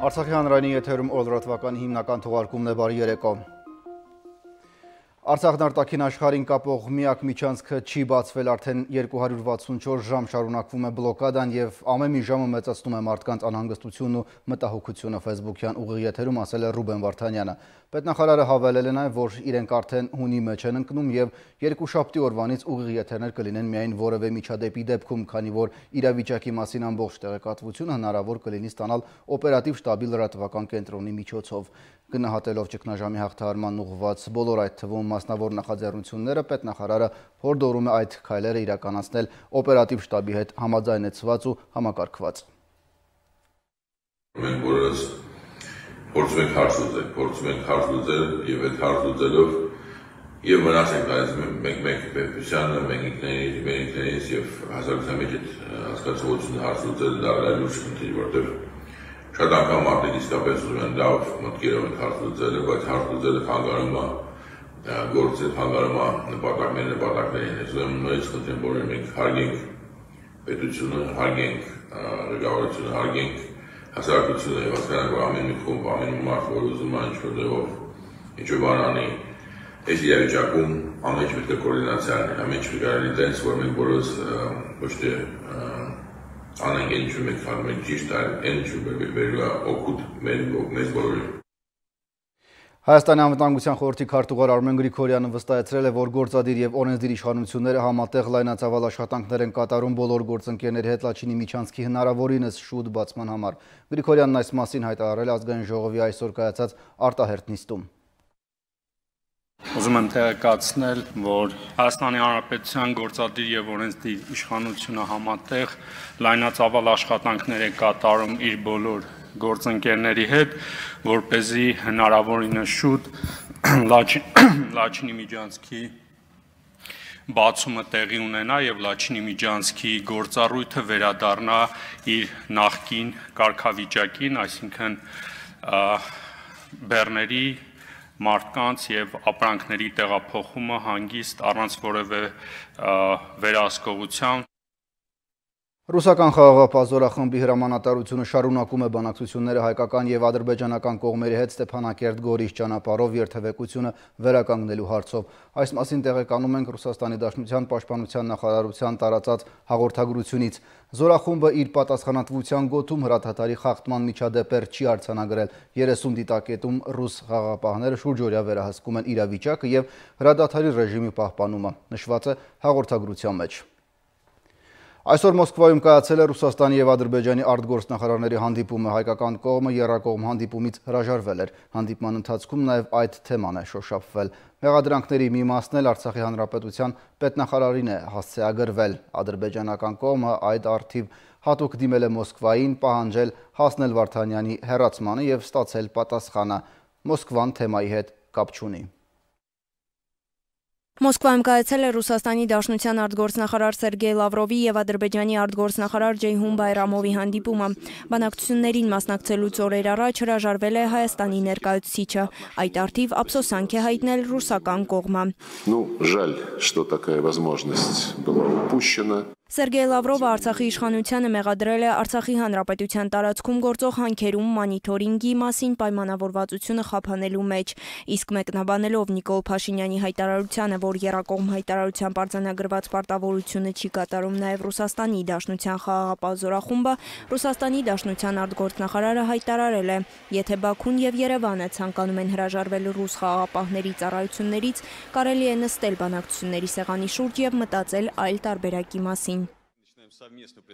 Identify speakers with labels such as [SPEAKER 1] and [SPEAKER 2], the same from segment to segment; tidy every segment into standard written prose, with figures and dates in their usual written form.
[SPEAKER 1] Արցախի հանրայինի եթերում օրդրատվականի հիմնական թողարկումն է, բարի երեկո։ Արցախն արտաքին աշխարհին կապող միակ միջանցքը չի բացվել, արդեն 264 ժամ շարունակվում է բլոկադան եւ ամեն մի ժամը մեծացնում է մարդկանց անհանգստությունն ու մտահոգությունը, Facebook-յան ուղիղ եթերում ասել է Ռուբեն Վարդանյանը։ Պետնախարարը հավելել է նաեւ, որ իրենք արդեն հունի մեջ են ընկնում եւ երկուշաբթի օրվանից ուղիղ եթերներ կլինեն միայն որևէ միջադեպի դեպքում, քանի որ իրավիճակի մասին ամբողջ տեղեկատվությունը հնարավոր կլինի ստանալ օպերատիվ շտաբի լրատվական կենտրոնի միջոցով։ Գնահատելով ճգնաժամի հաղթահարման ուղղված բոլոր այդ թվում մասնավոր նախաձեռնությունները, պետնախարարը հորդորում է այդ քայլերը իրականացնել օպերատիվ շտաբի հետ համաձայնեցված ու համակարգված։
[SPEAKER 2] Մենք որս փորձում ենք հարց լուծել եւ այդ հարց լուծելով եւ մնացենք այս մենք պետությանը, մենք ինքներս եւ հասարակության մեջ այդ հասկացողությունը հարց լուծել դառնալ լուրջ խնդիր, որտեղ շատ անգամ մարդիկ իսկապես ուզում են լավ մտքերով են հարց լուծել, բայց հարց լուծելը խանգարում է գործը, խանգարում է նպատակներին։ Ուրեմն նույնիսկ խնդրեմ բոլորին մենք հարգենք պետությունը, հարգենք ղեկավարությունը, հարգենք հասարակությունը եւ հասկանանք, որ ամեն մի խումբ, ամեն մի մարդ, որ ուզում է ինչ-որ ձևով ինչ-որ բան անի, այս իրավիճակում ամեն ինչ պետք է կոորդինացիա լինի, ամեն ինչ պետք է լինի տենց, որ մենք բոլորս ոչ թե անենք այն ինչ-որ մենք անում ենք ճիշտ, այլ այն ինչ-որ բերելու է օգուտ մեզ բոլորին։
[SPEAKER 1] Հայաստանի անվտանգության խորհրդի քարտուղար Արմեն Գրիգորյանը վստահեցրել է, որ գործադիր եւ օրենսդիր իշխանությունները համատեղ լայնածավալ աշխատանքներ են կատարում բոլոր գործընկերների հետ Լաչինի միջանցքի հնարավորինս շուտ բացման համար։ Գրիգորյանն այս մասին հայտարարել է ազգային ժողովի այսօր կայացած արտահերթ նիստում։
[SPEAKER 3] Ուզում եմ տեղեկացնել, որ Հայաստանի Հանրապետության գործադիր եւ օրենսդիր իշխանությունը համատեղ լայնածավալ աշխատանքներ է կատարում իր բոլոր գործընկերների հետ, որպեսզի հնարավորինս շուտ Լաչինի միջանցքի բացումը տեղի ունենա եւ Լաչինի միջանցքի գործառույթը վերադառնա իր նախկին կարգավիճակին, այսինքն բեռների մարդկանց եւ ապրանքների տեղափոխումը հանգիստ առանց որևէ վերահսկողության։
[SPEAKER 1] Ռուսական խաղաղապահ զորախմբի հրամանատարությունը շարունակում է բանակցությունները հայկական եւ ադրբեջանական կողմերի հետ Ստեփանակերտ-Գորիս ճանապարհով երթևեկությունը վերականգնելու հարցով։ Այս մասին տեղեկանում ենք Ռուսաստանի Դաշնության պաշտպանության նախարարության տարածած հաղորդագրությունից։ Զորախումբը իր պատասխանատվության գոտում հրադադարի խախտման միջադեպեր չի արձանագրել։ 30 դիտակետում ռուս խաղաղապահները շուրջօրյա վերահսկում են իրավիճակը եւ հրադադարի ռեժիմի պահպանումը, նշված է հաղորդագրության մեջ։ Այսօր Մոսկվայում կայացել է Ռուսաստանի եւ Ադրբեջանի արտգործնախարարների հանդիպումը, հայկական կողմը եռակողմ հանդիպումից հրաժարվել էր։ Հանդիպման ընթացքում նաեւ այդ թեման է շոշափվել։ Մեղադրանքների մի մասն էլ Արցախի հանրապետության պետնախարարին է հասցեագրվել։ Ադրբեջանական կողմը այդ առթիվ հատուկ դիմել է Մոսկվային, պահանջել հասնել Վարդանյանի հեռացմանը եւ ստացել պատասխանը։ Մոսկվան թեմայի հետ կապ չունի։
[SPEAKER 4] Մոսկվայում կայացել է Ռուսաստանի Դաշնության արտգործնախարար Սերգեյ Լավրովի եւ Ադրբեջանի արտգործնախարար Ջեյհուն Բայրամովի հանդիպումը։ Բանակցություններին մասնակցելուց օրեր առաջ հրաժարվել է Հայաստանի ներկայացուցիչը։ Այդ առթիվ ափսոսանք է հայտնել ռուսական կողմը։
[SPEAKER 5] Жаль, что такая возможность была упущена.
[SPEAKER 4] Սերգեյ Լավրովը Արցախի իշխանությանը մեղադրել է Արցախի հանրապետության տարածքում գործող հանքերում մանիթորինգի մասին պայմանավորվածությունը խափանելու մեջ, իսկ մեկնաբանելով Նիկոլ Փաշինյանի հայտարարությանը, որ եռակողմ հայտարարությամբ արձանագրված պարտավորությունը չի կատարում նաև Ռուսաստանի Դաշնության խաղաղապահ զորախումբը, Ռուսաստանի Դաշնության արտգործնախարարը հայտարարել է, եթե Բաքուն եւ Երևանը ցանկանում են հրաժարվել ռուս խաղաղապահների ծառայություններից, կարելի է նստել բանակցությունների սեղանի շուրջ եւ մտածել այլ տարբերակի մասին։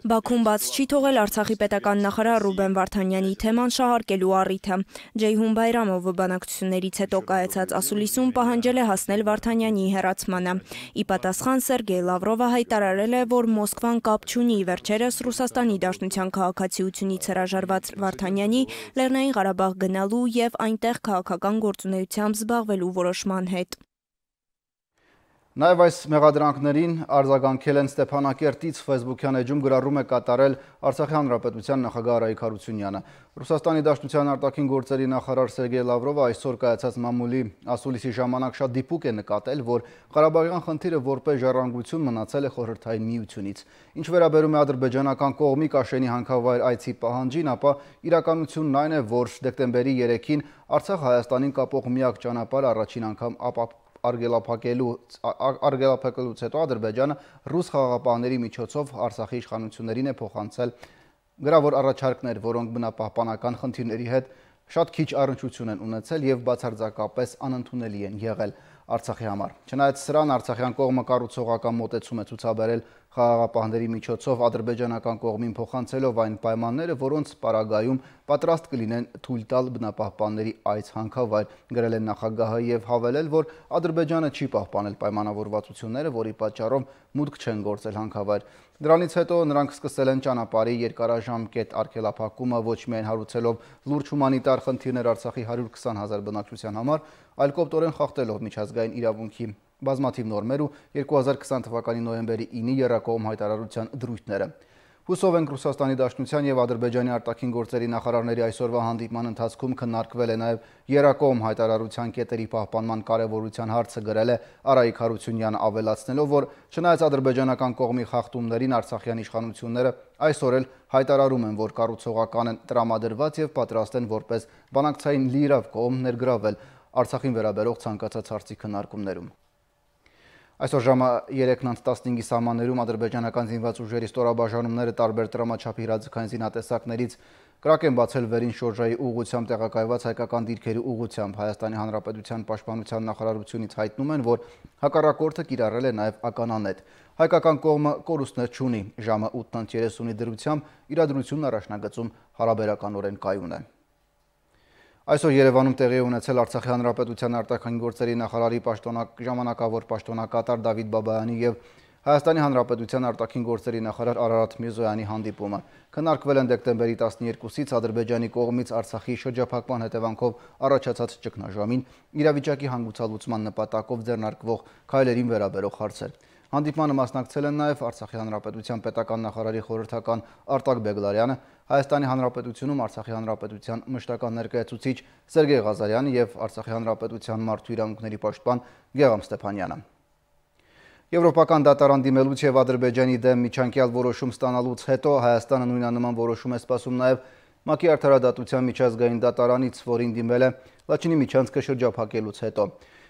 [SPEAKER 4] Բաքուն բաց չի թողել Արցախի պետական նախարար Ռուբեն Վարդանյանի թեման շահարկելու առիթը։ Ջեյհուն Բայրամովը բանակցություններից հետո կայացած ասուլիսում պահանջել է հասնել Վարդանյանի հեռացմանը։ Ի պատասխան Սերգեյ Լավրովը հայտարարել է, որ Մոսկվան կապ չունի վերջերս Ռուսաստանի Դաշնության քաղաքացիությունից հրաժարված Վարդանյանի Լեռնային Ղարաբաղ գնալու եւ այնտեղ քաղաքական գործունեությամբ զբաղվելու որոշման հետ։
[SPEAKER 1] Նաև այս մեղադրանքներին արձագանքել են Ստեփանակերտից Facebook-յան էջում գրառում է կատարել Արցախի Հանրապետության նախագահ Արայիկ Հարությունյանը։ Ռուսաստանի Դաշնության արտաքին գործերի նախարար Սերգեյ Լավրովը այսօր կայացած մամուլի ասուլիսի ժամանակ շատ դիպուկ է նկատել, որ Ղարաբաղյան խնդիրը որպես ժառանգություն մնացել է Խորհրդային Միությունից։ Ինչ վերաբերում է ադրբեջանական կողմի Կաշենի հանքավայր այցի պահանջին, ապա իրականությունն այն է, որ դեկտեմբերի 3-ին Արցախ Հայաստանին կապող միակ ճանապարհը առաջին անգամ արգելափակելուց հետո Ադրբեջանը ռուս խաղաղապահների միջոցով Արցախի իշխանություններին է փոխանցել գրավոր առաջարկներ, որոնք բնապահպանական խնդիրների հետ շատ քիչ առնչություն են ունեցել եւ բացարձակապես անընդունելի են եղել Արցախի համար։ Չնայած սրան, արցախյան կողմը կառուցողական մոտեցում է ցուցաբերել խաղաղապահների միջոցով ադրբեջանական կողմին փոխանցելով այն պայմանները, որոնց պարագայում պատրաստ կլինեն թույլ տալ բնապահպանների այց հանքավայր, գրել են նախագահը եւ հավելել, որ Ադրբեջանը չի պահպանել պայմանավորվածությունները, որի պատճառով մուտք չեն գործել հանքավայր։ Դրանից հետո նրանք սկսել են ճանապարհի երկարաժամկետ արգելափակումը ոչ միայն հարուցելով լուրջ հումանիտար խնդիրներ Արցախի 120,000 բնակչության համար, այլ կոպտորեն խախտելով միջազգային իրավունքի բազմաթիվ նորմեր ու 2020 թվականի նոյեմբերի 9-ի եռակողմ հայտարարության դրույթները։ Հուսով ենք Ռուսաստանի Դաշնության եւ Ադրբեջանի արտաքին գործերի նախարարների այսօրվա հանդիպման ընթացքում քննարկվել է նաեւ եռակողմ հայտարարության կետերի պահպանման կարեւորության հարցը, գրել է Արայիկ Հարությունյանը, ավելացնելով, որ չնայած ադրբեջանական կողմի խախտումներին արցախյան իշխանությունները այսօր էլ հայտարարում են, որ կառուցողական են տրամադրված եւ պատրաստ են որպես բանակցային լիիրավ կողմ ներգրավել Արցախին վերաբերող ցանկացած հարցի քննարկումներում։ Այսօր ժամը 3:15-ի սահմաններում ադրբեջանական զինված ուժերի ստորաբաժանումները տարբեր տրամաչափի հրաձգային զինատեսակներից կրակ են բացել վերին շորժայի ուղղությամբ տեղակայված հայկական դիրքերի ուղղությամբ։ Հայաստանի Հանրապետության Պաշտպանության նախարարությունից հայտնում են, որ հակառակորդը կիրառել է նաև ականանետ։ Հայկական կողմը կորուստներ չունի։ Ժամը 8:30-ի դրությամբ իրադրությունն առաջնագծում հարաբերականորեն կայուն է։ Այսօր Երևանում տեղի է ունեցել Արցախի Հանրապետության արտաքին գործերի նախարարի ժամանակավոր պաշտոնակատար Դավիթ Բաբայանի եւ Հայաստանի Հանրապետության արտաքին գործերի նախարար Արարատ Միրզոյանի հանդիպումը։ Քննարկվել են դեկտեմբերի 12-ից Ադրբեջանի կողմից Արցախի շրջափակման հետևանքով առաջացած ճգնաժամին, իրավիճակի հանգուցալուծման նպատակով ձեռնարկվող քայլերին վերաբերող հարցեր։ Հանդիպմանը մասնակցել են նաև Արցախի Հանրապետության պետական նախարարի խորհրդական Արտակ Բեգլարյանը, Հայաստանի Հանրապետությունում Արցախի Հանրապետության մշտական ներկայացուցիչ Սերգեյ Ղազարյանը եւ Արցախի Հանրապետության մարդու իրավունքների պաշտպան Գեգամ Ստեփանյանը։ Եվրոպական դատարան դիմելուց եւ Ադրբեջանի դեմ միջանկյալ որոշում ստանալուց հետո Հայաստանը նույնանման որոշում է սպասում նաև ՄԱԿ-ի արդարադատության միջազգային դատարանից, որին դիմել է Լաչինի միջանցքը շրջափակելուց հետո։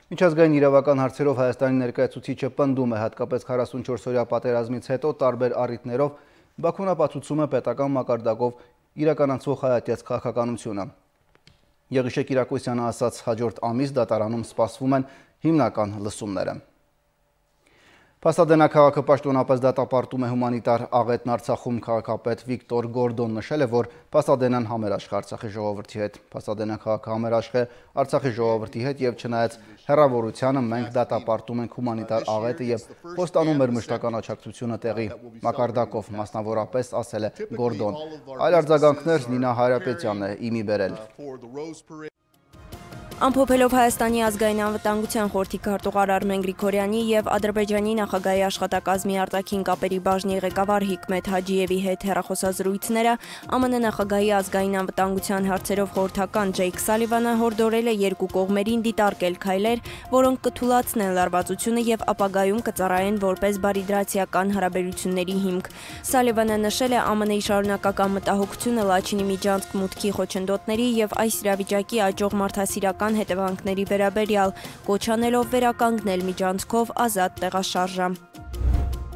[SPEAKER 1] Միջազգային իրավական հարցերով Հայաստանի ներկայացուցիչը պնդում է հատկապես 44-օրյա պատերազմից հետո տարբեր առիթներով Բաքուն ապացուցում է պետական մակարդակով իրականացվող հայատյաց քաղաքականությունը։ Եղիշե Կիրակոսյանը ասաց, հաջորդ ամիս դատարանում սպասվում են հիմնական լսումները։ Փաստադենա քաղաքը պաշտոնապես դատապարտում է հումանիտար աղետն Արցախում քաղաքապետ Վիկտոր Գորդոն նշել է, որ Փաստադենան համերաշխ է Արցախի ժողովրդի հետ։ Փաստադենա քաղաքը համերաշխ է Արցախի ժողովրդի հետ եւ չնայած հեռավորությանը մենք դատապարտում ենք հումանիտար աղետը եւ խոստանում մեր մշտական աջակցությունը տեղի մակարդակով, մասնավորապես ասել է Գորդոն։ Այլ արձագանքներ Նինա Հայրապետյանն է իմի բերել։
[SPEAKER 4] Ամփոփելով Հայաստանի ազգային անվտանգության խորհրդի քարտուղար Արմեն Գրիգորյանի եւ Ադրբեջանի նախագահի աշխատակազմի արտաքին կապերի բաժնի ղեկավար Հիկմեթ Հաջիևի հետ հեռախոսազրույցները, ԱՄՆ նախագահի ազգային անվտանգության հարցերով խորհրդական Ջեյք Սալիվանը հորդորել է երկու կողմերին դիտարկել քայլեր, որոնք կթույլատնեն լարվածությունը եւ ապագայում կծառայեն որպես բարիդրացիական հարաբերությունների հիմք։ Սալիվանը նշել է ԱՄՆ-ի շարունակական մտահոգությունը Լաչինի միջանցք մուտքի խոչընդոտների եւ այս իրավիճակի աճող մարդասիրական հետևանքների վերաբերյալ, կոչ անելով վերականգնել միջանցքով ազատ տեղաշարժը։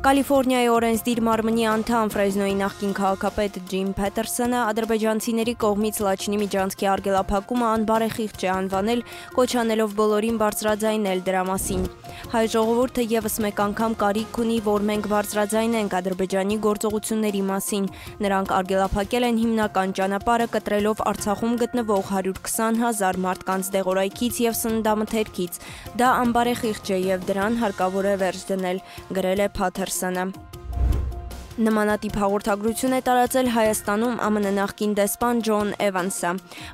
[SPEAKER 4] Կալիֆոռնիայի օրենսդիր մարմնի անդամ Ֆրեզնոյի նախկին քաղաքապետ Ջիմ Փեթերսոնը ադրբեջանցիների կողմից Լաչինի միջանցքի արգելափակումը անբարեխիղճ է անվանել, կոչ անելով բոլորին բարձրաձայնել դրա մասին։ Հայ ժողովուրդը եւս մեկ անգամ կարիք ունի, որ մենք բարձրաձայնենք Ադրբեջանի գործողությունների մասին։ Նրանք արգելափակել են հիմնական ճանապարհը, կտրելով Արցախում գտնվող 120,000 մարդկանց դեղորայքից եւ սննդամթերքից։ Դա անբարեխիղճ է եւ դրան հարկավոր է վերջ դնել, գրել է Փաթերսոնը։ Նմանատիպ հաղորդագրություն է տարածել Հայաստանում ԱՄՆ նախկին դեսպան Ջոն Էվանսը։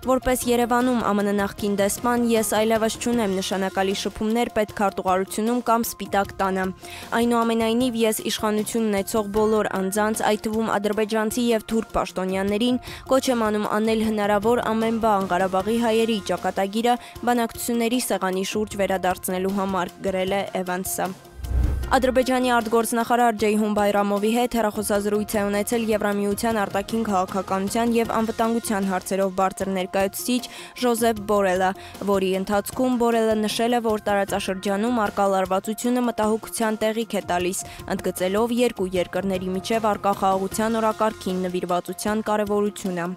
[SPEAKER 4] Որպես Երևանում ԱՄՆ նախկին դեսպան, ես այլևս չունեմ նշանակալի շփումներ պետքարտուղարությունում կամ Սպիտակ տանը։ Այնուամենայնիվ ես իշխանություն ունեցող բոլոր անձանց, այդ թվում ադրբեջանցի եւ թուրք պաշտոնյաներին կոչ եմ անում անել հնարավոր ամեն բան Ղարաբաղի հայերի ճակատագիրը բանակցությունների սեղանի շուրջ վերադարձնելու համար, գրել է Էվանսը։ Ադրբեջանի արտգործնախարար Ջեյհուն Բայրամովի հետ հեռախոսազրույց է ունեցել Եվրամիության արտաքին քաղաքականության եւ անվտանգության հարցերով բարձր ներկայացուցիչ Ժոզեփ Բորելը, որի ընթացքում Բորելը նշել է, որ տարածաշրջանում առկա լարվածությունը մտահոգության տեղիք է տալիս, ընդգծելով երկու երկրների միջև առկա խաղաղության օրակարգին նվիրվածության կարևորությունը։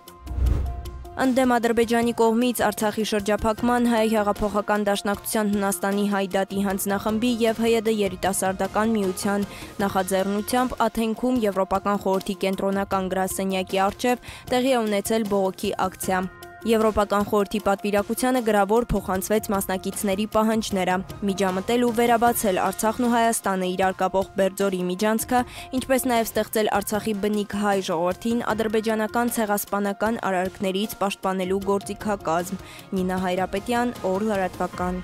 [SPEAKER 4] Ընդդեմ Ադրբեջանի կողմից Արցախի շրջափակման Հայ հեղափոխական դաշնակցության Հունաստանի Հայդատի հանձնախմբի եւ ՀՅԴ երիտասարդական միության նախաձեռնությամբ Աթենքում Եվրոպական խորհրդի կենտրոնական գրասենյակի առջև տեղի է ունեցել բողոքի ակցիա։ Եվրոպական խորհրդի պատվիրակությանը գրավոր փոխանցվեց մասնակիցների պահանջները, միջամտել ու վերաբացել Արցախն ու Հայաստանը իրար կապող Բերձորի միջանցքը, ինչպես նաև ստեղծել Արցախի բնիկ հայ ժողովրդին ադրբեջանական ցեղասպանական արարքներից պաշտպանելու գործիքակազմ։ Նինա Հայրապետյան, Օր լրատվական։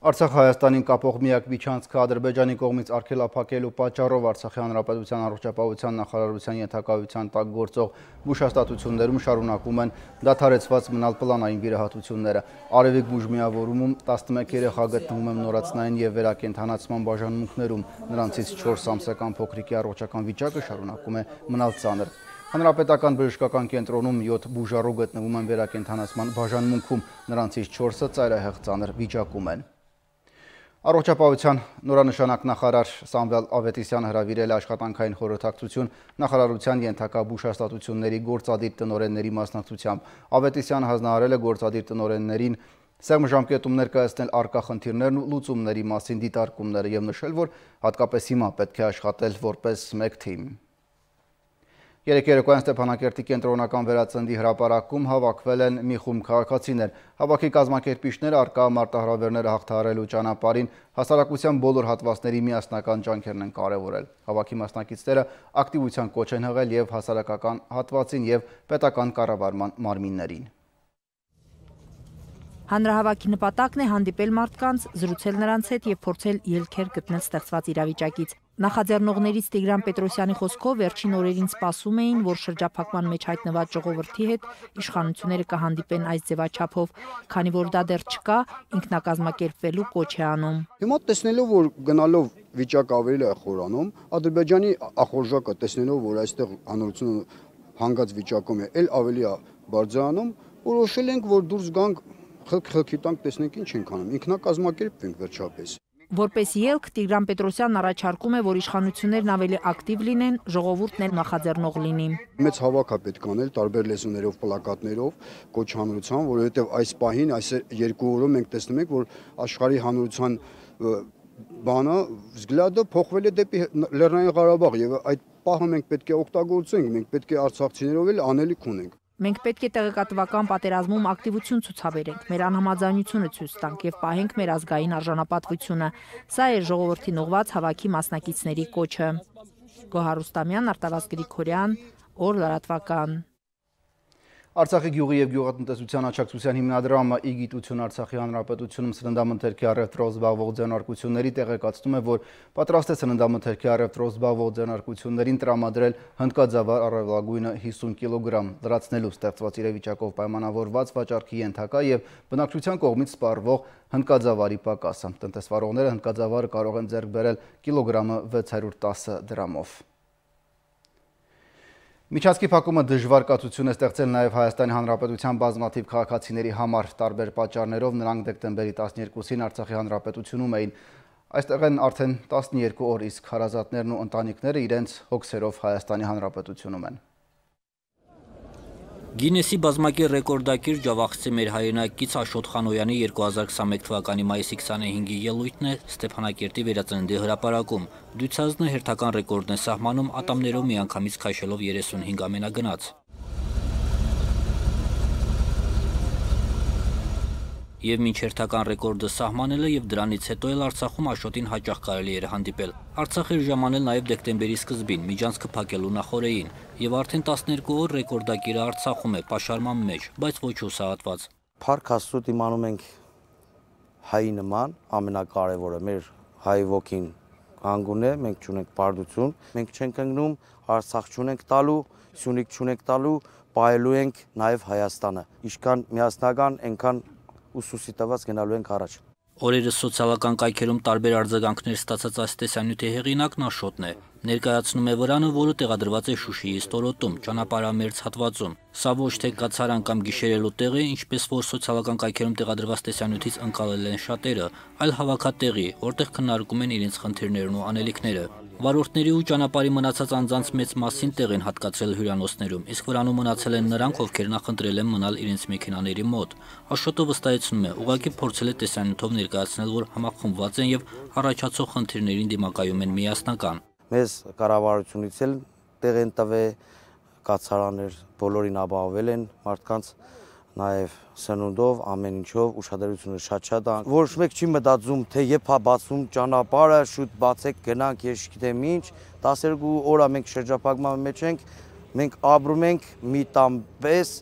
[SPEAKER 1] Արցախ-Հայաստանին կապող միակ միջանցքը Ադրբեջանի կողմից արգելափակելու պատճառով Արցախի հանրապետության առողջապահության նախարարության ենթակայության տակ գործող բուժհաստատություններում շարունակում են դադարեցված մնալ պլանային վիրահատությունները։ Արևիկ բուժմիավորումում 11 երեխա գտնվում են նորացնային եւ վերակենդանացման բաժանմունքներում, նրանցից 4 ամսական փոքրիկի առողջական վիճակը շարունակում է մնալ ծանր։ Հանրապետական բժշկական կենտրոնում 7 բուժառու գտնվում են վերակենդանացման բաժանմունքում, նրանցից 4-ը ծայրահեղ ծանր վիճակում են։ Առողջապահության նորանշանակ նախարար Սամվել Ավետիսյանը հրավիրել է աշխատանքային խորհրդակցություն նախարարության ենթակա բուժհաստատությունների գործադիր տնօրենների մասնակցությամբ։ Ավետիսյանը հանձնարարել է գործադիր տնօրեններին սեղմ ժամկետում ներկայացնել առկա խնդիրներն ու լուծումների մասին դիտարկումները եւ նշել, որ հատկապես հիմա պետք է աշխատել որպես մեկ թիմ։ Երեկ երեկոյան Ստեփանակերտի կենտրոնական վերածնդի հրապարակում հավաքվել են մի խումբ քաղաքացիներ։ Հավաքի կազմակերպիչները առկա մարտահրավերները հաղթահարելու ճանապարհին հասարակության բոլոր հատվածների միասնական ջանքերն են կարևորել։ Հավաքի մասնակիցները ակտիվության կոչ են հղել եւ հասարակական հատվածին եւ պետական կառավարման մարմիններին։
[SPEAKER 6] Հանրահավաքի նպատակն է հանդիպել մարդկանց, զրուցել նրանց հետ եւ փորձել ելքեր գտնել ստեղծված իրավիճակից։ Նախաձեռնողներից Տիգրան Պետրոսյանի խոսքով վերջին օրերին սպասում էին, որ շրջափակման մեջ հայտնված ժողովրդի հետ իշխանությունները կհանդիպեն այս ձևաչափով, քանի որ դա դեռ չկա, ինքնակազմակերպվելու կոչ է անում։
[SPEAKER 7] Հիմա տեսնելով, որ գնալով վիճակը ավելի է խորանում, Ադրբեջանի ախորժակը տեսնելով, որ այստեղ հանրությունը հանգած վիճակում է, ել ավելի է բարձրանում, որոշել ենք, որ դուրս գանք խելքի տանք տեսնենք ինչ ենք անում, ինքնակազմակերպվենք վերջապես։
[SPEAKER 6] Որպես ելք Տիգրան Պետրոսյանն առաջարկում է, որ իշխանություններն ավելի ակտիվ լինեն, ժողովուրդն էլ նախաձեռնող լինի։
[SPEAKER 7] Մեծ հավաք է պետք անել տարբեր լեզուներով, պլակատներով, կոչ հանրության, որովհետև այս պահին, այս 2 օրում մենք տեսնում ենք, որ աշխարհի հանրության բանը взглядը փոխվել է դեպի Լեռնային Ղարաբաղ եւ այդ պահը մենք պետք է օգտագործենք, մենք պետք է արցախցիներով էլ անելիք ունենք։
[SPEAKER 6] Մենք պետք է տեղեկատվական պատերազմում ակտիվություն ցուցաբերենք, մեր անհամաձայնությունը ցույց տանք եւ պահենք մեր ազգային արժանապատվությունը։ Սա է ժողովրդին ուղղված հավաքի մասնակիցների կոչը։ Գոհար Ռուստամյան, Արտավազդ Գրիգորյան, Օր լրատվական։
[SPEAKER 1] Արցախի գյուղի եւ գյուղատնտեսության աջակցության հիմնադրամը «Իգիտություն Արցախի Հանրապետությունում սննդամթերքի առևտրով զբաղվող ձեռնարկությունների» տեղեկացնում է, որ պատրաստ է սննդամթերքի առևտրով զբաղվող ձեռնարկություններին տրամադրել հնդկաձավար առավելագույնը 50 կիլոգրամ, լրացնելու ստեղծված իրավիճակով պայմանավորված վաճառքի ենթակա եւ բնակչության կողմից սպառվող հնդկաձավարի պակասը։ Տնտեսվարողները հնդկաձավարը կարող են ձեռք բերել կիլոգրամը 610 դրամով։ Միջանցքի փակումը դժվար կացություն է ստեղծել նաև Հայաստանի Հանրապետության բազմաթիվ քաղաքացիների համար, տարբեր պատճառներով նրանք դեկտեմբերի 12-ին Արցախի Հանրապետությունում էին։ Այստեղ են արդեն 12 օր, իսկ հարազատներն ու ընտանիքները իրենց հոգսերով Հայաստանի Հանրապետությունում են։
[SPEAKER 8] Գինեսի բազմակի ռեկորդակիր ջավախցի մեր հայրենակից Աշոտ Խանոյանի 2021 թվականի մայիսի 25-ի ելույթն է Ստեփանակերտի վերածնդի հրապարակում։ Դյուցազնը հերթական ռեկորդն է սահմանում ատամներով միանգամից քաշելով 35 ամենագնաց։ Եվ մինչ հերթական ռեկորդը սահմանելը եւ դրանից հետո էլ Արցախում Աշոտին հաճախ կարելի էր հանդիպել։ Արցախ էր ժամանել նաեւ դեկտեմբերի սկզբին, միջանցքը փակելու նախօրեին, եւ արդեն 12 օր ռեկորդակիրը Արցախում է պաշարման մեջ, բայց ոչ հուսահատված։
[SPEAKER 9] Փառք Աստծո իմանում ենք հայի նման, ամենակարևորը մեր հայ ոգին հանգուն է, մենք չունենք պարտություն, մենք չենք ընկնում, Արցախ չունենք տալու, Սյունիք չունենք տալու, պահելու ենք նաեւ Հայաստանը։ Ինչքան միասնական, այնքան ուսուսի տված գնալու ենք առաջ։
[SPEAKER 8] Օրերս սոցիալական կայքերում տարբեր արձագանքներ ստացած այս տեսանյութի հեղինակն Աշոտն է։ Ներկայացնում է վրանը, որը տեղադրված է Շուշիի ստորոտում, ճանապարհամերձ հատվածում։ Սա ոչ թե կացարան կամ գիշերելու տեղ է, ինչպես որ սոցիալական կայքերում տեղադրված տեսանյութից ընկալել են շատերը, այլ հավաքատեղի, որտեղ քննարկում են իրենց խնդիրներն ու անելիքները։ Վարորդների ու ճանապարհի մնացած անձանց մեծ մասին տեղ են հատկացրել հյուրանոցներում, իսկ վրանում մնացել են նրանք, ովքեր նախընտրել են մնալ իրենց մեքենաների մոտ։ Աշոտը վստահեցնում է, ուղղակի փորձել է տեսանյութով ներկայացնել, որ համախմբված են եւ առաջացող խնդիրներին դիմակայում են միասնական։
[SPEAKER 9] Մեզ կառավարությունից էլ տեղ են տվել, կացարաններ բոլորին ապահովել են մարդկանց, նաև սնունդով, ամեն ինչով ուշադրությունը շատ է։ Ոչ մեկ չի մտածում, թե երբ է բացում ճանապարհը, շուտ բացեք, գնանք, ես չգիտեմ ինչ, 12 օր մենք շրջափակման մեջ ենք, մենք ապրում ենք մի տան պես,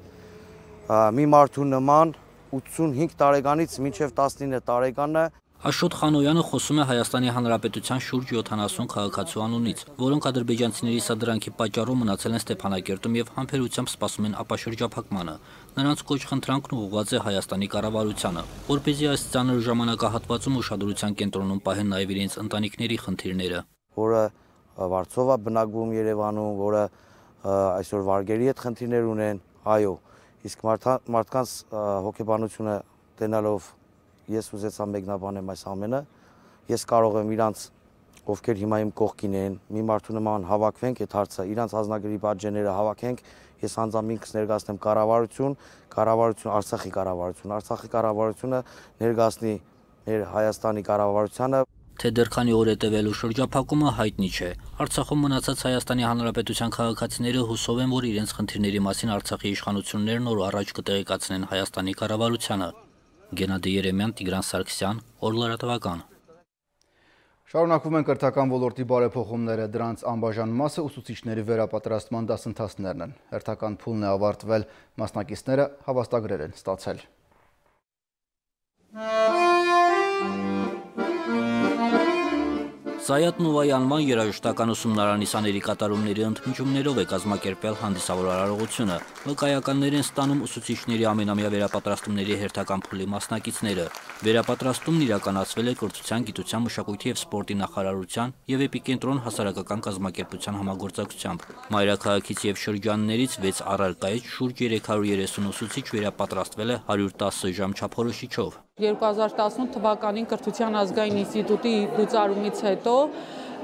[SPEAKER 9] մի մարդու նման 85 տարեկանից մինչև 19 տարեկանը։
[SPEAKER 8] Աշոտ Խանոյանը խոսում է Հայաստանի Հանրապետության շուրջ 70 քաղաքացու անունից, որոնք ադրբեջանցիների սադրանքի պատճառով մնացել են Ստեփանակերտում եւ համբերությամբ սպասում են ապաշրջափակմանը։ Նրանց կոչ-խնդրանքն ուղղված է Հայաստանի կառավարությանը, որպեսզի այս ծանր ժամանակահատվածում ուշադրության կենտրոնում պահեն նաեւ իրենց ընտանիքների խնդիրները,
[SPEAKER 9] որը Վարշավա է բնակվում Երևանում, որը այսօր վարգերի հետ խնդիրներ ունեն, այո, իսկ մարդկանց հոգեբանությունը տենալով ես ուզեցա մեկնաբանեմ այս ամենը, ես կարող եմ իրանց, ովքեր հիմա իմ կողքին են, մի մարդու նման հավաքվենք այդ հարցը, իրանց ազնագրի բաժները հավաքենք, ես անձամբ ինքս ներկայացնեմ կառավարություն, Արցախի կառավարությունը ներկայացնի մեր Հայաստանի կառավարությանը։
[SPEAKER 8] Թե դեռ քանի օր է տևելու շրջափակումը հայտնի չէ։ Արցախում մնացած Հայաստանի Հանրապետության քաղաքացիները հուսով են, որ իրենց խնդիրների մասին Արցախի իշխանություններն օր առաջ կտեղեկացնեն Հայաստանի կառավարությանը։ Գենադի Երեմյան, Տիգրան Սարգսյան, Օրլարատվական։
[SPEAKER 1] Շարունակվում են կրթական ոլորտի բարեփոխումները, դրանց անբաժան մասը ուսուցիչների վերապատրաստման դասընթացներն են։ Հերթական փուլն է ավարտվել, մասնակիցները հավաստագրեր են ստացել։
[SPEAKER 8] Զայաթ Նովայի անվան երաժշտական ուսումնարանի սաների կատարումների ընդմիջումներով է կազմակերպել հանդիսավոր արարողությունը։ Վկայականներ են ստանում ուսուցիչների ամենամյա վերապատրաստումների հերթական փուլի մասնակիցները։ Վերապատրաստումն իրականացվել է Կրթության, Գիտության, Մշակույթի և Սպորտի նախարարության և Էպիկենտրոն հասարակական կազմակերպության համագործակցությամբ։ Մայրաքաղաքից և շրջաններից 6 առարկայից շուրջ 330 ուսուցիչ վերապատրաստվել է 110 ժամ չափորոշիչով։
[SPEAKER 10] 2018 թվականին Կրթության ազգային ինստիտուտի լուծարումից հետո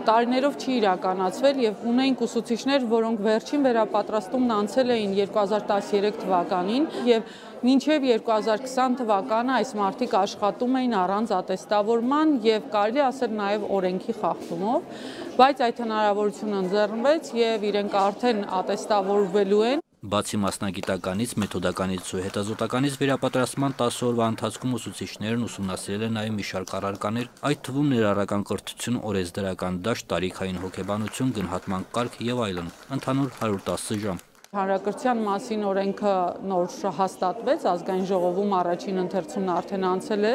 [SPEAKER 10] տարիներով չի իրականացվել եւ ունենք ուսուցիչներ, որոնք վերջին վերապատրաստումն անցել էին 2013 թվականին եւ մինչև 2020 թվականը այս մարդիկ աշխատում էին առանց ատեստավորման եւ կարելի ասել նաեւ օրենքի խախտումով, բայց այդ հնարավորությունը ընձեռնվեց եւ իրենք արդեն ատեստավորվելու են։
[SPEAKER 8] Բացի մասնագիտականից, մեթոդականից ու հետազոտականից վերապատրաստման 10 օրվա ընթացքում ուսուցիչներն ուսումնասիրել են նաև մի շարք առարկաներ, այդ թվում ներառական կրթություն, օրենսդրական դաշտ, տարիքային հոգեբանություն, գնահատման կարգ եւ այլն, ընդհանուր 110 ժամ։
[SPEAKER 10] Հանրակրթության մասին օրենքը նոր հաստատվեց, ազգային ժողովում առաջին ընթերցումն արդեն անցել է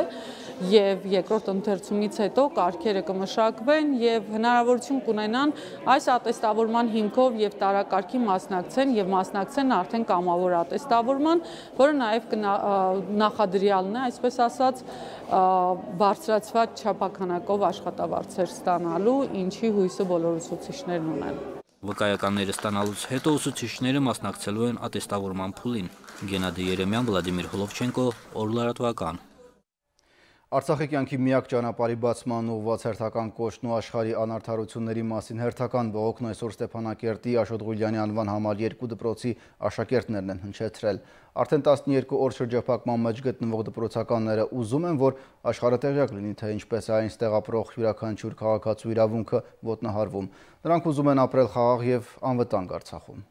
[SPEAKER 10] եւ երկրորդ ընթերցումից հետո կարգերը կմշակվեն եւ հնարավորություն կունենան այս ատեստավորման հիմքով եւ տարակարգի մասնակցեն արդեն կամավոր ատեստավորման, որը նաեւ նախադրյալն է, այսպես ասած, բարձրացված չափականակով աշխատավարձեր ստանալու, ինչի հույսը բոլոր ուսուցիչներն ունեն։
[SPEAKER 8] Վկայականները ստանալուց հետո ուսուցիչները մասնակցելու են ատեստավորման փուլին։ Գենադի Երեմյան, Վլադիմիր Հոլովչենկո, Օրլարատվական։
[SPEAKER 1] Արցախի կյանքի միակ ճանապարհի բացման ուղղված հերթական կոչն ու աշխարհի անարդարությունների մասին հերթական բողոքն այսօր Ստեփանակերտի Աշոտ Ղուլյանի անվան համար 2 դպրոցի աշակերտներն են հնչեցրել։ Արդեն 12 օր շրջափակման մեջ գտնվող դպրոցականները ուզում են, որ աշխարհը տեղյակ լինի, թե ինչպես է այնտեղ ապրող յուրաքանչյուր քաղաքացու իրավունքը ոտնահարվում։ Նրանք ուզում են ապրել խաղաղ եւ անվտանգ Արցախում։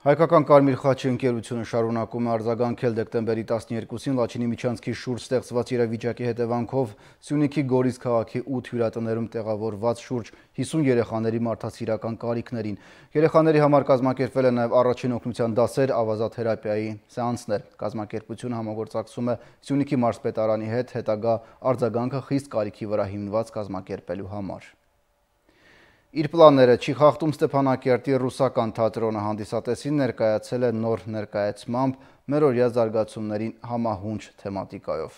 [SPEAKER 1] Հայկական Կարմիր խաչի ընկերությունը շարունակում է արձագանքել դեկտեմբերի 12-ին Լաչինի միջանցքի շուրջ ստեղծված իրավիճակի հետևանքով Սյունիքի Գորիս քաղաքի 8 հյուրատներում տեղավորված շուրջ 50 երեխաների մարդասիրական կարիքներին։ Երեխաների համար կազմակերպվել են նաև առաջին օգնության դասեր, ավազաթերապիայի սեանսներ։ Կազմակերպությունը համագործակցում է Սյունիքի մարզպետարանի հետ հետագա արձագանքը խիստ կարիքի վրա հիմնված կազմակերպելու համար։ Իր պլանները չի խախտում Ստեփանակերտի ռուսական թատրոնը հանդիսատեսին ներկայացել է նոր ներկայացմամբ մերօրյա զարգացումներին համահունչ թեմատիկայով։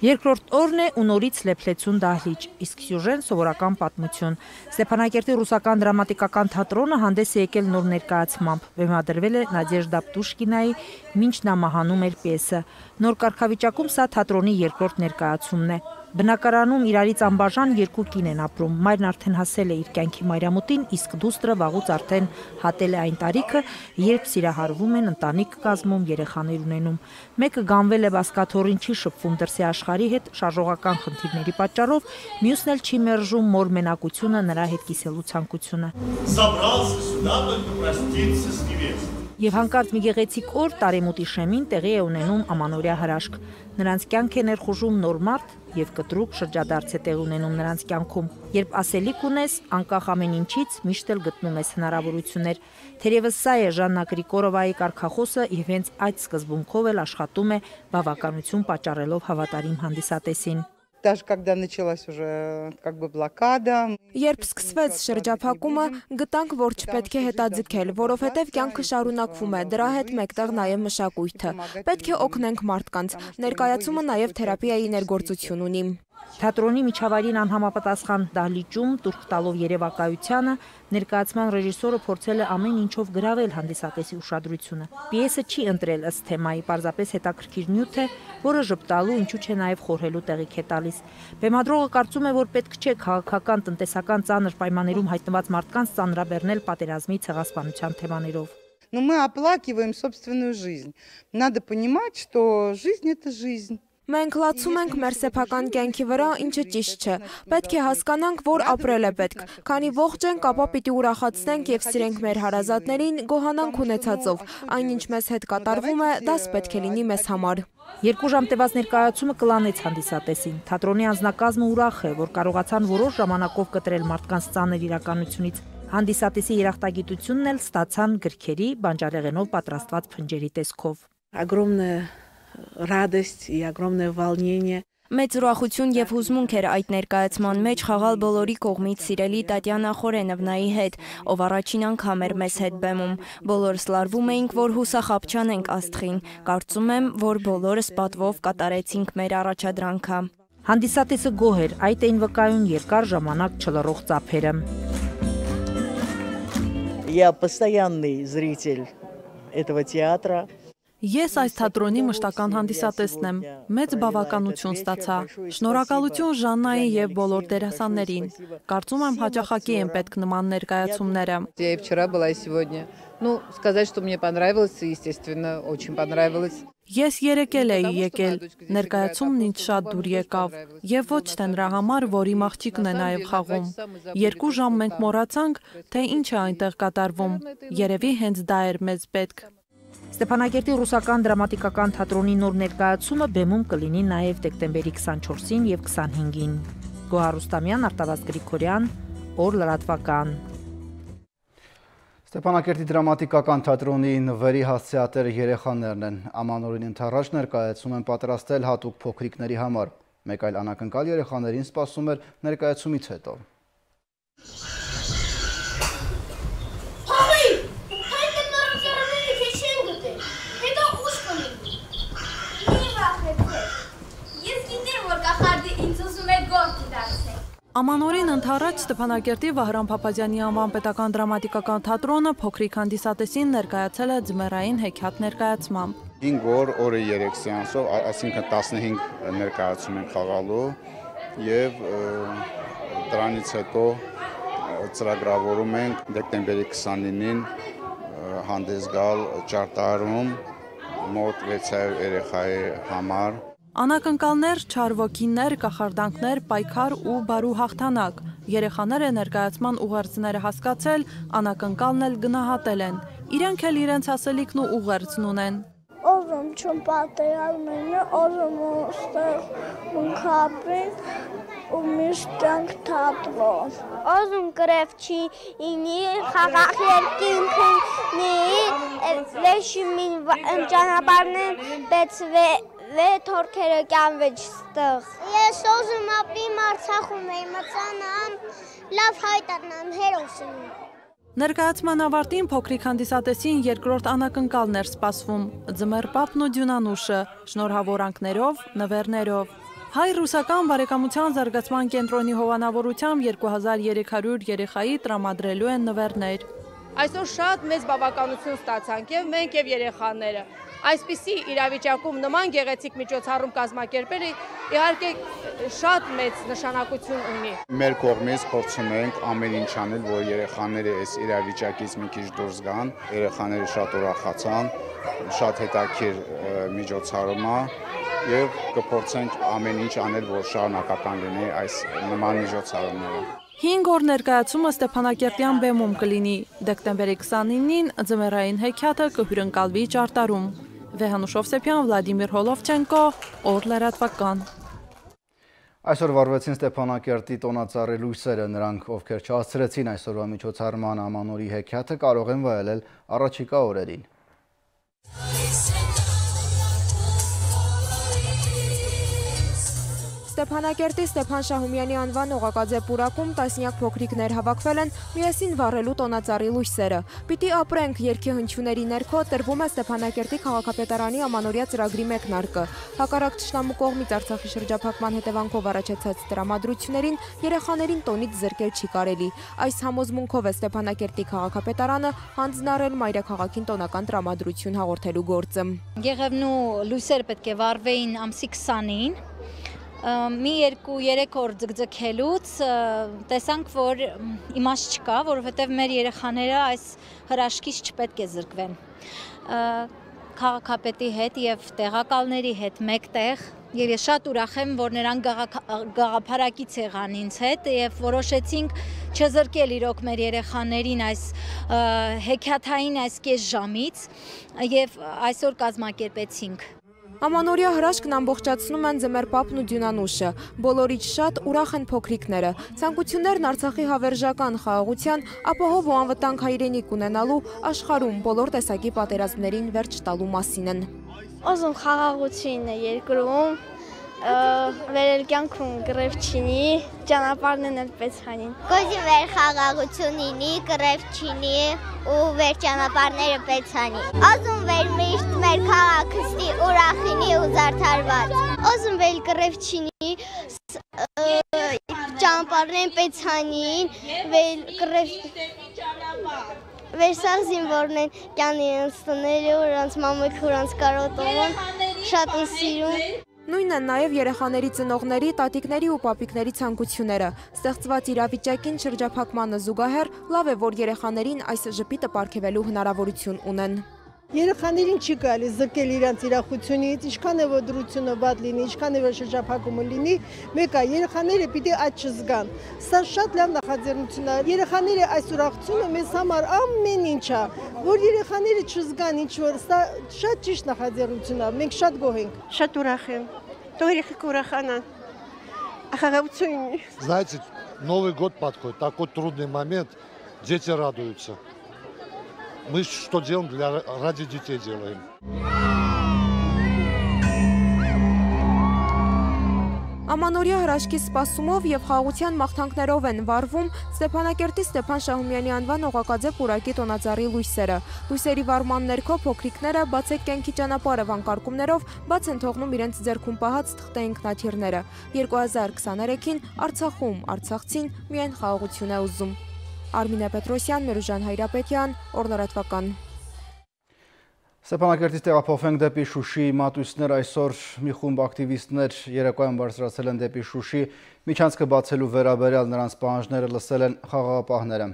[SPEAKER 6] Երկրորդ օրն է ու նորից լեփլեցուն դահլիճ, իսկ սյուժեն սովորական պատմություն։ Ստեփանակերտի ռուսական դրամատիկական թատրոնը հանդես է եկել նոր ներկայացմամբ։ Բեմադրվել է Նադեժդա Պուշկինայի «Մինչ նա մահանում էր» պիեսը։ Նոր կարգավիճակում սա թատրոնի երկրորդ ներկայացումն է։ Բնակարանում իրարից անբաժան երկու կին են ապրում։ Մայրն արդեն հասել է իր կյանքի մայրամուտին, իսկ դուստրը վաղուց արդեն հատել է այն տարիքը, երբ սիրահարվում են, ընտանիք կազմում, երեխաներ ունենում։ Մեկը գանվել է բասկաթոռին, չի շփվում դրսի աշխարհի հետ շարժողական խնդիրների պատճառով, մյուսն էլ չի մերժում մոր մենակությունը, նրա հետ կիսելու ցանկությունը։ Եվ հանկարծ մի գեղեցիկ օր տարեմուտի շեմին տեղի է ունենում ամանորյա հրաշք։ Նրանց կյանք է ներխուժում նոր մարդ եւ կտրուկ շրջադարձ է տեղ ունենում նրանց կյանքում։ Երբ ասելիք ունես, անկախ ամեն ինչից միշտ էլ գտնում ես հնարավորություններ։ Թերևս սա է Ժաննա Գրիգորովայի կարգախոսը եւ հենց այդ սկզբունքով էլ աշխատում է բավականություն պատճառելով հավատարիմ հանդիսատեսին։
[SPEAKER 11] Даже когда началась уже как бы блокада.
[SPEAKER 4] Երբ սկսվեց շրջափակումը, գտանք, որ չպետք է հետաձգել, որովհետև կյանքը շարունակվում է, դրա հետ մեկտեղ նաև մշակույթը։ Պետք է օգնենք մարդկանց։ Ներկայացումը նաև թերապիայի ներգործություն ունի։
[SPEAKER 6] Թատրոնի միջավայրին անհամապատասխան դահլիճում տուրք տալով երևակայությանը ներկայացման ռեժիսորը փորձել է ամեն ինչով գրավել հանդիսատեսի ուշադրությունը։ Պիեսը չի ընտրել ըստ թեմայի, պարզապես հետաքրքիր նյութ է, որը ժպտալու, ինչու չէ նաև խորհելու տեղիք է տալիս։ Բեմադրողը կարծում է, որ պետք չէ քաղաքական, տնտեսական ծանր պայմաններում հայտնված մարդկանց ծանրաբեռնել պատերազմի ցեղասպանության թեմաներով։
[SPEAKER 11] Но мы оплакиваем собственную жизнь. Надо понимать, что жизнь это жизнь.
[SPEAKER 4] Մենք լացում ենք մեր սեփական կյանքի վրա, ինչը ճիշտ չէ։ Պետք է հասկանանք, որ ապրել է պետք։ Քանի ողջ ենք, ապա պիտի ուրախացնենք եւ սիրենք մեր հարազատներին, գոհանանք ունեցածով։ Այնինչ մեզ հետ կատարվում է, դաս պետք է լինի մեզ համար։
[SPEAKER 6] 2 ժամ տևած ներկայացումը կլանեց հանդիսատեսին։ Թատրոնի անձնակազմը ուրախ է, որ կարողացան որոշ ժամանակով կտրել մարդկանց ծանր իրականությունից։ Հանդիսատեսի երախտագիտությունն էլ ստացան գրքերի, բանջարեղենով պատրաստված փնջերի տեսքով։
[SPEAKER 12] Огромная радость и огромное волнение.
[SPEAKER 4] Մեծ ուրախություն եւ հուզմունք էր այդ ներկայացման մեջ խաղալ բոլորի կողմից սիրելի Տատյանա Խորենովնայի հետ, ով առաջին անգամ էր մեզ հետ բեմում։ Բոլորս լարվում էինք, որ հուսախաբչանենք աստղին։ Կարծում եմ, որ բոլորս պատվով կատարեցինք մեր առաջադրանքը։
[SPEAKER 6] Հանդիսատեսը գոհ էր, այդ էին վկայուն երկար ժամանակ չլռող ծափերը։
[SPEAKER 12] Я постоянный зритель этого театра.
[SPEAKER 13] Ես այս թատրոնի մշտական հանդիսատեսն եմ, մեծ բավականություն ստացա, շնորհակալություն Ժաննայի եւ բոլոր դերասաններին, կարծում եմ հաճախակի են պետք նման ներկայացումները։
[SPEAKER 11] Я и вчера была, и сегодня. Ну, сказать, что мне понравилось, естественно, очень понравилось.
[SPEAKER 13] Ես երեկել էի եկել, ներկայացումն ինձ շատ դուր եկավ, եւ ոչ թե նրա համար, որ իմ աղջիկն է նաեւ խաղում։ 2 ժամ մենք մոռացանք, թե ինչ է այնտեղ կատարվում, երևի հենց դա էր մեզ պետք։
[SPEAKER 6] Ստեփանակերտի ռուսական դրամատիկական թատրոնի նոր ներկայացումը բեմում կլինի նաև դեկտեմբերի 24-ին եւ 25-ին։ Գոհար Ռուստամյան, Արտավազդ Գրիգորյան, Օր լրատվական։
[SPEAKER 1] Ստեփանակերտի դրամատիկական թատրոնի նվերի հասցեատերը երեխաներն են։ Ամանորին ընթառաջ ներկայացում են պատրաստել հատուկ փոքրիկների համար։ Մեկ այլ անակնկալ երեխաներին սպասում էր ներկայացումից հետո։
[SPEAKER 13] Ամանորին ընթառաջ Ստեփանակերտի Վահրամ Փափազյանի անվան պետական դրամատիկական թատրոնը փոքրիկ հանդիսատեսին ներկայացել է ձմեռային հեքիաթ ներկայացմամբ։
[SPEAKER 14] 5 օր, օրը 3 սեանսով, այսինքն 15 ներկայացում ենք խաղալու եւ դրանից հետո ծրագրավորում ենք դեկտեմբերի 29-ին հանդես գալ Ճարտարում մոտ 600 երեխայի համար։
[SPEAKER 13] Անակնկալներ, չար ոգիներ, կախարդանքներ, պայքար ու բարու հաղթանակ։ Երեխաները ներկայացման ուղերձները հասկացել, անակնկալն էլ գնահատել են։ Իրենք էլ իրենց ասելիքն ու ուղերձն ունեն։
[SPEAKER 15] Ozum çün patlayalmını, ozum usta mınkapin, umiştank tatlo. Ozum grefçi ini, xaqaqlerkinkini, leşimin canabarının ve torkere gəlvəcistıq. Ես ozum ապրիմ Արցախում եմ, մծանամ, լավ հայտարնամ հերոսին։
[SPEAKER 13] Ներկայացման ավարտին փոքրիկ հանդիսատեսին երկրորդ անակնկալն էր սպասվում, Ձմեռ պապն ու Դյունանուշը, շնորհավորանքներով, նվերներով։ Հայ-ռուսական բարեկամության զարգացման կենտրոնի հովանավորությամբ 2300 երեխայի տրամադրելու են նվերներ։
[SPEAKER 16] Այսօր շատ մեծ բավականություն ստացանք եւ մենք եւ երեխաները։ Այսպիսի իրավիճակում նման գեղեցիկ միջոցառում կազմակերպելը իհարկե շատ մեծ նշանակություն ունի։
[SPEAKER 14] Մեր կողմից փորձում ենք ամեն ինչ անել, որ երեխաները այս իրավիճակից մի քիչ դուրս գան, երեխաները շատ ուրախացան, շատ հետաքրքիր միջոցառում է եւ կփորձենք ամեն ինչ անել, որ շարունակական լինի այս նման միջոցառումները։
[SPEAKER 13] 5 օր ներկայացումը Ստեփանակերտյան բեմում կլինի, դեկտեմբերի 29-ին ձմեռային հեքիաթը կհյուրընկալվի ճարտարում։ Վեհանուշ Օվսեփյան, Վլադիմիր Հոլովչենկո, Օր լրատվական։
[SPEAKER 1] Այսօր վարվեցին Ստեփանակերտի տոնածառի լույսերը, նրանք, ովքեր չհասցրեցին այսօրվա միջոցառման ամանորի հեքիաթը, կարող են վայելել առաջիկա օրերին։
[SPEAKER 4] Ստեփանակերտի Ստեփան Շահումյանի անվան օղակաձե պուրակում տասնյակ փոքրիկներ հավաքվել են միասին վառելու տոնածառի լույսերը։ Պիտի ապրենք երգի հնչյուների ներքո տրվում է Ստեփանակերտի քաղաքապետարանի ամանորյա ծրագրի մեկնարկը։ Հակառակ թշնամու կողմից Արցախի շրջափակման հետևանքով առաջացած տրամադրություններին երեխաներին տոնից զրկել չի կարելի։ Այս համոզմունքով է Ստեփանակերտի քաղաքապետարանը հանձնարարել մայրաքաղաքին տոնական տրամադրություն հաղորդելու գործը։
[SPEAKER 17] Գեղևնու լույսերը պետք է վառվեին ամսի 20-ին։ Մի 2-3 օր ձգձգելուց տեսանք, որ իմաստ չկա, որովհետև մեր երեխաները այս հրաշքից չպետք է զրկվեն։ Քաղաքապետի հետ եւ տեղակալների հետ մեկտեղ եւ ես շատ ուրախ եմ, որ նրանք գաղափարակից եղան ինձ հետ եւ որոշեցինք չզրկել իրոք մեր երեխաներին այս հեքիաթային այս կես ժամից եւ այսօր կազմակերպեցինք։
[SPEAKER 4] Ամանորյա հրաշքն ամբողջացնում են Ձմեռ պապն ու Դյունանուշը։ Բոլորից շատ ուրախ են փոքրիկները։ Ցանկություններն Արցախի հավերժական խաղաղության, ապահով ու անվտանգ հայրենիք ունենալու աշխարհում բոլոր տեսակի պատերազմներին վերջ տալու մասին են։
[SPEAKER 15] Ozum խաղաղությունն է երկրում, վերել կյանքում գրև չինի, ճանապարհներն էլ պես հանին։ Գոզի վեր խաղաղություն ինի, գրև չինի ու վեր ճանապարհները պես հանի։ Ozum վեր միշտ մեր քաղաքստի ուրախինի ու զարդարված։ Ozum վեր գրև չինի, ճանապարհներն պես հանին, վեր գրև Վերսաղ զինվորն են կյանի ընստները, ուրանց մամույք ուրանց կարոտովում, շատ են սիրում։
[SPEAKER 4] Նույնն են նաև երեխաների ծնողների, տատիկների ու պապիկների ցանկությունները։ Ստեղծված իրավիճակին շրջափակմանը զուգահեռ լավ է, որ երեխաներին այս ժպիտը պարգևելու հնարավորություն ունեն։
[SPEAKER 18] Երեխաներին չի կարելի զրկել իրենց ուրախությունից, ինչքան է որ դրությունը բաց լինի, ինչքան է որ շրջափակումը լինի, մեկը երեխաները պիտի այդ չզգան։ Սա շատ լավ նախաձեռնություն է։ Երեխաները այս ուրախությունը մեզ համար ամեն ինչ է, որ երեխաները չզգան ինչ որ, սա շատ ճիշտ նախաձեռնություն է։ Մենք շատ գոհ ենք։ Շատ ուրախ եմ։ Թող երեխեք ուրախանան։ Խաղաղություն։
[SPEAKER 19] Знаете, Новый год подходит, такой трудный момент, дети радуются. Мы что делаем, ради детей делаем.
[SPEAKER 4] Ամանորյա հրաշքի սպասումով եւ խաղաղության մաղթանքներով են վառվում Ստեփանակերտի Ստեփան Շահումյանի անվան օղակաձե պուրակի տոնածառի լույսերը։ Լույսերի վառման ներքո փոքրիկները բացեք կյանքի ճանապարհը վանկարկումներով բաց են թողնում իրենց ձեռքում պահած թղթե ինքնաթիռները։ 2023-ին Արցախում արցախցին միայն խաղաղություն է ուզում։ Արմինե Պետրոսյան, Մերուժան Հայրապետյան, Օր լրատվական։
[SPEAKER 1] Ստեփանակերտից տեղափոխվենք դեպի Շուշի մատույցներ, այսօր մի խումբ ակտիվիստներ երեկոյան բարձրացել են դեպի Շուշի, միջանցքը բացելու վերաբերյալ նրանց պահանջները լսել են խաղաղապահները։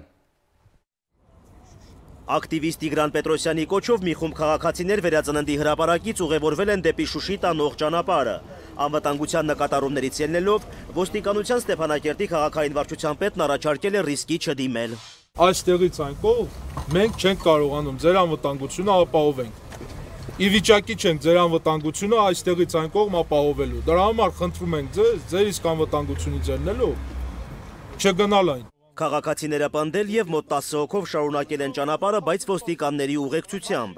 [SPEAKER 20] Ակտիվիստ Տիգրան Պետրոսյանի կոչով մի խումբ քաղաքացիներ վերածննդի հրապարակից ուղևորվել են դեպի Շուշի տանող ճանապարհը։ Անվտանգության նկատառումներից ելնելով, ոստիկանության Ստեփանակերտի քաղաքային վարչության պետն առաջարկել է ռիսկի չդիմել։
[SPEAKER 21] Այստեղից այն կողմ մենք չենք կարողանում ձեր անվտանգությունը ապահովենք։ Ի վիճակի չենք ձեր անվտանգությունը այստեղից այն կողմ ապահովելու։ Դրա համար խնդրում ենք ձեր իսկ անվտանգությունից ելնելով չգնալ այն։
[SPEAKER 20] Քաղաքացիները պնդել եւ մոտ 10 հոգով շարունակել են ճանապարհը, բայց ոստիկանների ուղեկցությամբ։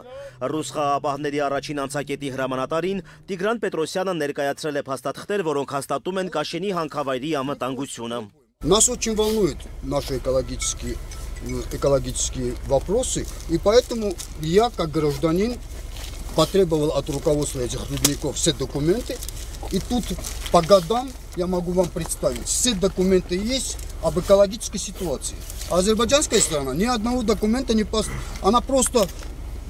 [SPEAKER 20] Ռուս խաղաղապահների առաջին անցակետի հրամանատարին Տիգրան Պետրոսյանը ներկայացրել է փաստաթղթեր, որոնք հաստատում են Կաշենի հանքավայրի անվտանգությունը։
[SPEAKER 7] Нас очень волнуют наши экологические вопросы, и поэтому я, как гражданин, потребовал от руководства этих рудников все документы, и тут по годам я могу вам представить, все документы есть об экологической ситуации. Азербайджанская сторона ни одного документа не поставила, она просто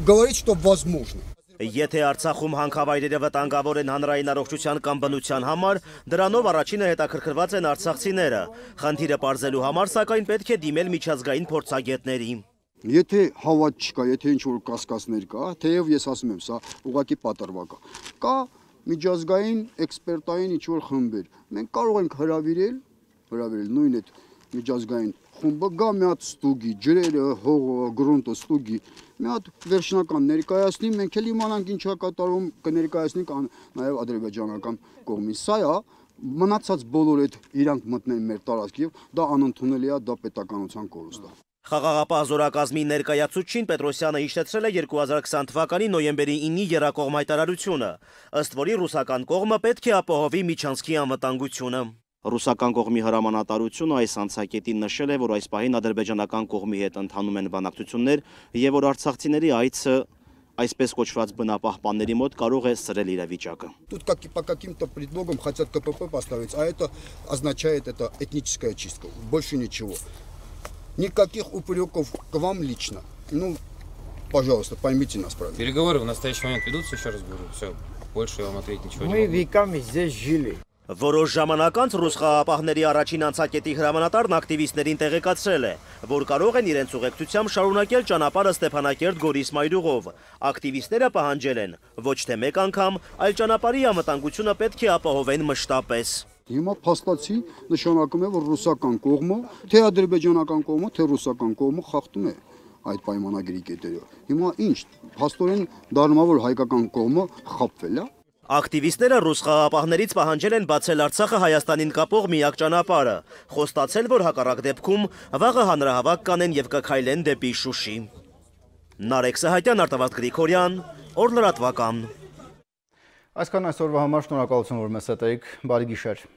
[SPEAKER 7] говорит, что возможно.
[SPEAKER 20] Եթե Արցախում հանքավայրերը վտանգավոր են հանրային առողջության կամ բնության համար, դրանով առաջինը հետաքրքրված են արցախցիները։ Խնդիրը պարզելու համար, սակայն պետք է դիմել միջազգային փորձագետների։
[SPEAKER 7] Եթե հավատ չկա, եթե ինչ-որ կասկածներ կա, թեև ես ասում եմ, սա ուղղակի պատրվակ է, կա միջազգային էքսպերտային ինչ-որ խմբեր։ Մենք կարող ենք հրավիրել նույն այդ միջազգային խումբը, գա մի հատ ստուգի, ջրերը, հողը, գրունտը ստուգի, մի հատ վերջնական ներկայացնի, մենք էլ իմանանք ինչա կատարում, կներկայացնենք նաև ադրբեջանական կողմին։ Սա է, մնացած բոլոր այդ իրանք մտնեն մեր տարածք եւ դա անընդունելի է, դա պետականության կորուստ է։
[SPEAKER 20] Խաղաղապահ զորակազմի ներկայացուցիչին Պետրոսյանը հիշեցրել է 2020 թվականի նոյեմբերի 9-ի եռակողմ հայտարարությունը, ըստ որի ռուսական կողմը պետք է ապահովի միջանցքի անվտանգությունը։ Ռուսական կողմի հրամանատարությունը այս անցակետին նշել է, որ այս պահին ադրբեջանական կողմի հետ ընթանում են բանակցություններ եւ որ արցախցիների այցը այսպես կոչված բնապահպանների մոտ կարող է սրել իրավիճակը։
[SPEAKER 7] Тут как по каким-то предлогам хотят КПП поставить, а это означает это этническая чистка, больше ничего. Никаких упреков к вам лично. Ну, пожалуйста, поймите нас правильно.
[SPEAKER 22] Переговоры в настоящий момент ведутся, еще раз говорю. Все, больше я вам ответить ничего не могу.
[SPEAKER 23] Мы веками здесь жили.
[SPEAKER 20] Որոշ ժամանակ անց ռուս խաղաղապահների առաջին անցակետի հրամանատարն ակտիվիստներին տեղեկացրել է, որ կարող են իրենց ուղեկցությամբ շարունակել ճանապարհը Ստեփանակերտ-Գորիս մայրուղով։ Ակտիվիստները պահանջել են ոչ թե մեկ անգամ, այլ ճանապարհի անվտանգությունը պետք է ապահովեն մշտապես։
[SPEAKER 7] Հիմա փաստացի նշանակում է, որ ռուսական կողմը, թե ադրբեջանական կողմը, թե ռուսական կողմը խախտում է այդ պայմանագրի կետերը։ Հիմա ինչ, փաստորեն դառնում է, որ հայկական կողմը խաբվել է։
[SPEAKER 20] Ակտիվիստները ռուս խաղաղապահներից պահանջել են բացել Արցախը Հայաստանին կապող միակ ճանապարհը, խոստացել, որ հակառակ դեպքում վաղը հանրահավաք կանեն եւ կքայլեն դեպի Շուշի։ Նարեկ Սահակյան, Արտավազդ Գրիգորյան, Օր լրատվական։
[SPEAKER 1] Այսքան այսօրվա համար շնորհակալություն, որ մեզ հետ էիք, բարի գիշեր։